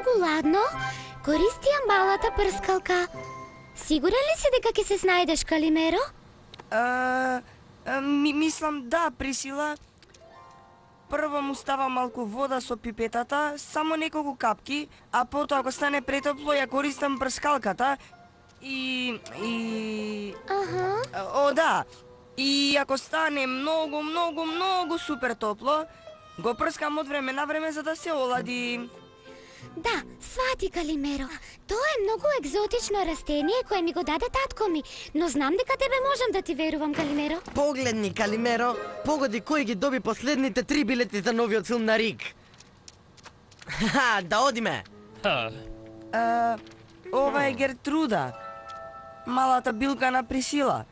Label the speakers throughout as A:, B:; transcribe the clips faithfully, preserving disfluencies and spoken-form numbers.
A: многу ладно, користијам балата прскалка. Сигурен ли си дека ќе се снајдеш, Калимеро?
B: А, а, ми, мислам да, Присила. Прво му става малку вода со пипетата, само неколку капки, а потоа ако стане претопло ја користам прскалката и... и...
A: Аха.
B: О, да. И ако стане многу, многу, многу супер топло, го прскам од време на време за да се олади.
A: Да, свати, Калимеро. Тоа е многу екзотично растение кое ми го даде татко ми, но знам дека тебе можам да ти верувам, Калимеро.
C: Погледни, Калимеро, погоди кој ги доби последните три билети за новиот филм на Рик. Ха, да одиме.
B: А, ова е Гертруда, малата билка на Присила.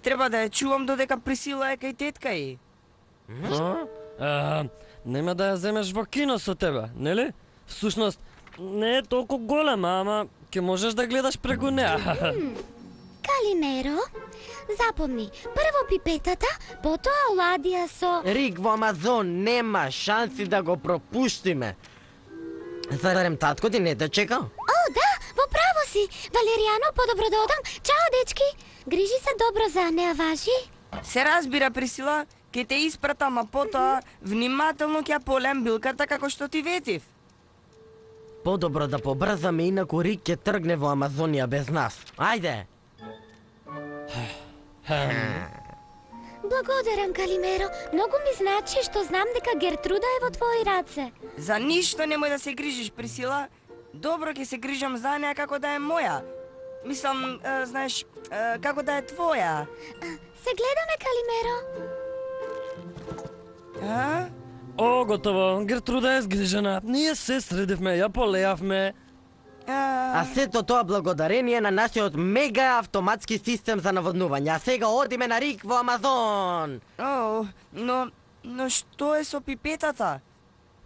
B: Треба да ја чувам додека Присила е кај тетка и.
D: А, нема да ја земеш во кино со тебе, нели? Всушност, не е толку голема, ама ќе можеш да гледаш преку неа.
A: Калимеро, запомни, прво пипетата, потоа оладија со...
C: Рик во Амазон, нема шанси да го пропуштиме. Зарем татко ти не те чека?
A: О, да, во право си. Валеријано, подобро да одам. Чао, дечки. Грижи се добро за неа, важи?
B: Се разбира, Присила, ке те испратам, а потоа внимателно ќе ја полем билката како што ти ветив.
C: Подобро да побрзаме, инаку Рик ќе тргне во Амазонија без нас. Ајде!
A: Благодарам, Калимеро. Многу ми значи што знам дека Гертруда е во твои раце.
B: За ништо немој да се грижиш, Присила. Добро ќе се грижам за неа како да е моја. Мислам, е, знаеш, е, како да е твоја.
A: Се гледаме, Калимеро.
B: А?
D: О, готово. Гертруда е згрижена. Ние се средивме, ја полеавме.
B: А...
C: А сето тоа благодарение на нашиот мега автоматски систем за наводнување. А сега одиме на Рик во Амазон.
B: О, но, но што е со пипетата?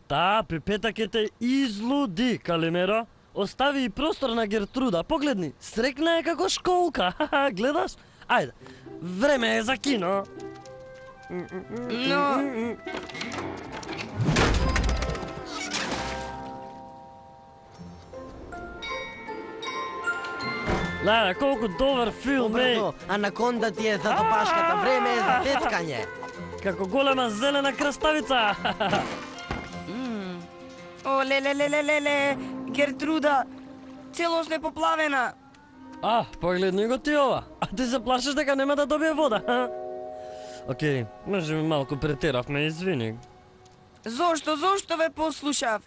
D: Таа пипета ќе те излуди, Калимеро. Остави и простор на Гертруда. Погледни, срекна е како школка. Гледаш? Ајде, време е за кино.
B: Но...
D: Леле, колку добар филм е.
C: Побрзо, анаконда ти е за допашката, време е за тецкање.
D: Како голема зелена краставица.
B: О, леле, леле, леле, Гертруда, целосно е поплавена.
D: А, погледни го ти ова. А ти се плашиш дека нема да добие вода, ха? Океј, може би малку претеравме, извини.
B: Зошто, зошто ве послушав?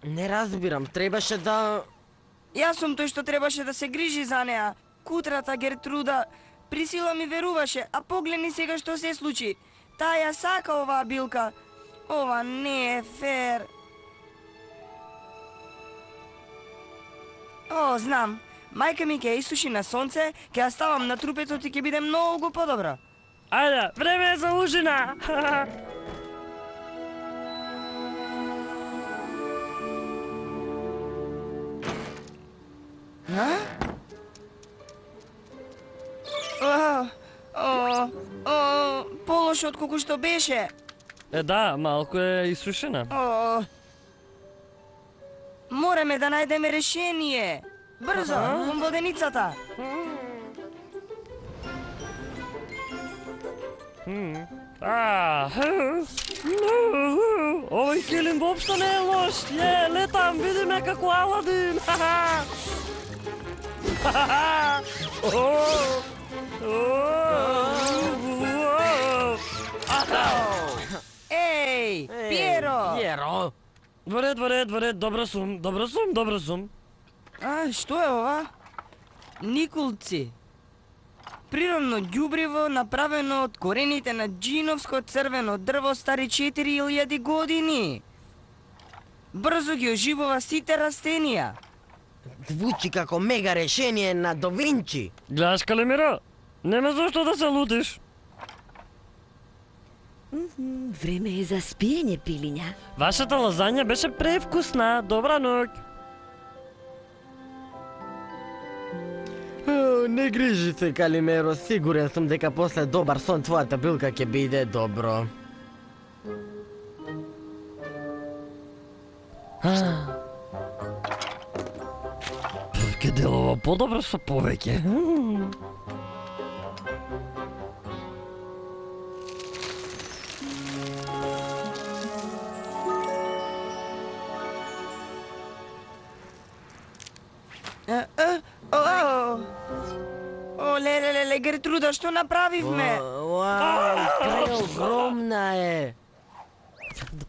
C: Не разбирам, требаше да...
B: Јас сум тој што требаше да се грижи за неа. Кутрата Гертруда, Присила ми веруваше, а погледни сега што се случи. Таа ја сака оваа билка. Ова не е фер. О, знам. Мајка ми ќе ја исуши на сонце, ќе ја ставам на трупетот и ќе биде многу подобро.
D: Ајде, време е за ужина.
B: А? О, о, о, полошо од колку што беше.
D: Е, да, малку е исушена.
B: О, мораме да најдеме решение. Брзо, кон воденицата.
D: А, овој килим воопшто не е лош. Е, летам, видиме како Аладин.
B: Еј, Пиеро!
C: Пиеро!
D: Во ред, во ред, во ред, добро сум, добро сум, добро сум.
B: А, што е ова? Никулци. Природно ѓубриво направено од корените на джиновско црвено дрво стари четири илјади години. Брзо ги оживува сите растенија.
C: Звучи како мега решение на Да Винчи.
D: Гледаш, Калимеро? Нема зошто да се лутиш.
E: Време е за спиење, пилиња.
D: Вашата лазања беше превкусна. Добра ноќ.
C: О, не грижи се, Калимеро, сигурен сум дека после добар сон твојата билка ќе биде добро.
D: ќе делува подобро со повеќе.
B: Е, е, о, о, о, леле, леле, Гертруда, што направивме?
C: Вау, преогромна е.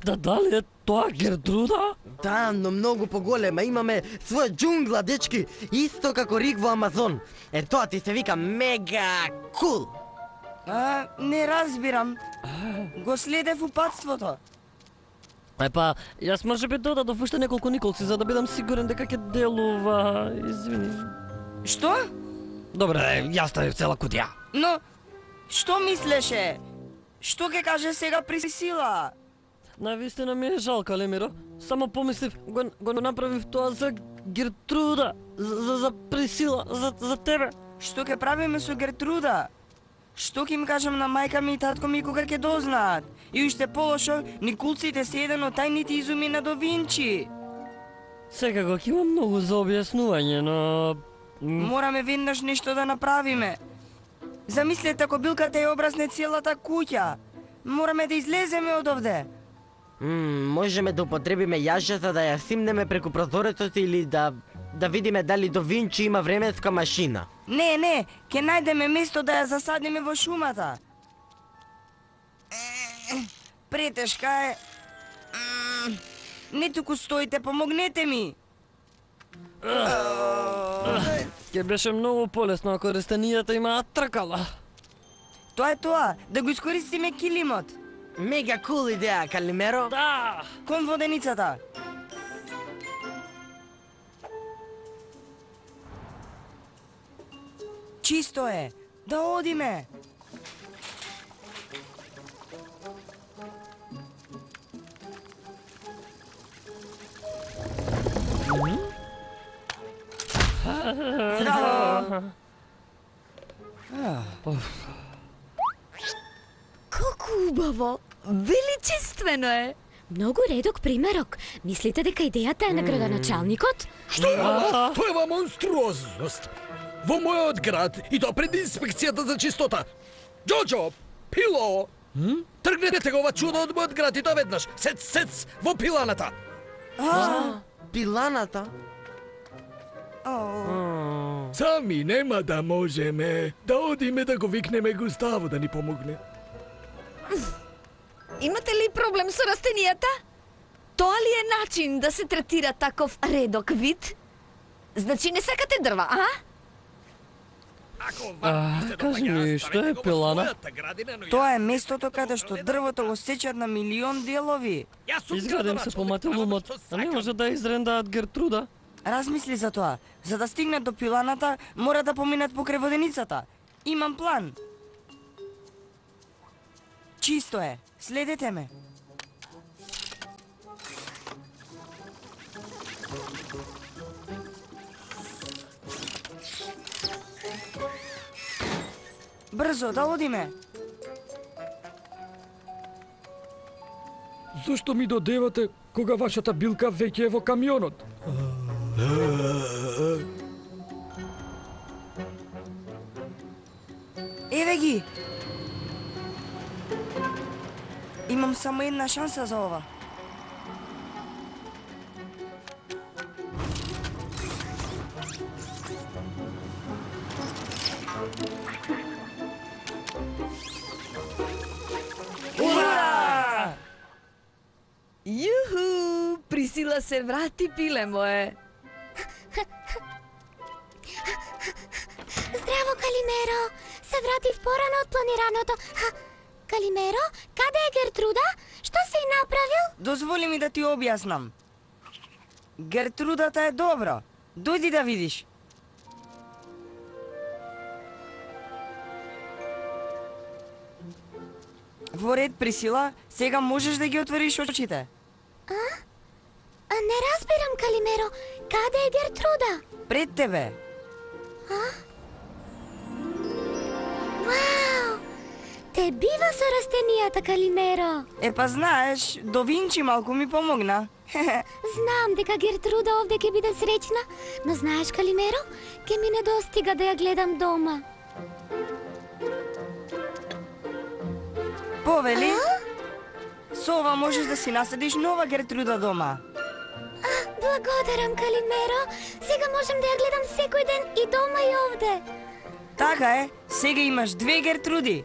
D: Да, дали е тоа Гертруда?
C: Да, но многу поголема. Имаме своја џунгла, дечки, исто како Рик во Амазон. Е, тоа ти се вика мега кул.
B: А, не разбирам. Го следев упатството.
D: Епа, јас може би додадов уште неколку николци за да бидам сигурен дека ќе делува. Извини.
B: Што?
D: Добре, јас ставив цела кутија.
B: Но, што мислеше? Што ќе каже сега Присила?
D: Навистина ми е жал, Калемиро. Само помислив, го, го направив тоа за Гертруда, за, за, за Присила, за, за тебе.
B: Што ќе правиме со Гертруда? Што ќе им кажам на мајка ми и татко ми кога ќе дознаат? И уште полошо, никулците се еден од тајните изуми на Да Винчи.
D: Секако ќе има многу за објаснување, но...
B: Мораме веднаш нешто да направиме. Замислете ако билката ја образне целата куќа. Мораме да излеземе од овде.
C: Мм, можеме да употребиме јажа за да ја симнеме преку прозорецот или да да видиме дали Да Винчи има временска машина.
B: Не, не, ќе најдеме место да ја засадиме во шумата. Претешка е. М, Не туку стоите, помогнете ми.
D: Ќе беше многу полесно ако растенијата имаат тркала.
B: Тоа е тоа, да го искористиме килимот.
C: Мега кул идеја, Калимеро.
D: Да!
B: Кон воденицата. Чисто е, да одиме. Здраво.
E: Колку убаво! Величествено е!
A: Многу редок примерок. Мислите дека идејата е на градоначалникот?
F: Што? Тоа е монструозност. Во мојот град и тоа пред инспекцијата за чистота. Џоџо, Пило, тргнете го ова чудо од мојот град и тоа веднаш. Сец, сец, во пиланата.
C: Пиланата?
F: Сами нема да можеме. Да одиме да го викнеме Густаво да ни помогне.
E: Имате ли проблем со растенијата? Тоа ли е начин да се третира таков редок вид? Значи не сакате дрва, а?
F: Ако
D: А, кажи ми, што е пилана?
B: Тоа е местото каде што дрвото го сечат на милион делови.
D: Изградим се поматил умот, а не може да изрендаат Гертруда.
B: Размисли за тоа. За да стигнат до пиланата, мора да поминат покрај воденицата. Имам план. Чисто е. Следете ме. Брзо, да одиме.
F: Зошто ми додевате кога вашата билка веќе е во камионот?
B: Еве ги. Имам само една шанса за ова. Ура!
E: Јуху! Присила се врати, пиле мое.
A: Здраво, Калимеро! Се вратив порано од планираното. Ха, Калимеро, каде е Гертруда? Што си направил?
B: Дозволи ми да ти објаснам. Гертрудата е добра. Дојди да видиш. Во ред, Присила, сега можеш да ги отвориш очите.
A: А не разбирам, Калимеро. Каде е Гертруда?
B: Пред тебе.
A: Вау! Те бива со растенијата, Калимеро.
B: Е, па знаеш, Да Винчи малку ми помогна.
A: Знам дека Гертруда овде ќе биде среќна, но знаеш, Калимеро, ќе ми недостига да ја гледам дома.
B: Повели? Со ова можеш да си наседиш нова Гертруда дома.
A: Благодарам, Калимеро. Сега можам да ја гледам секој ден и дома и овде.
B: Така е, сега имаш две Гертруди.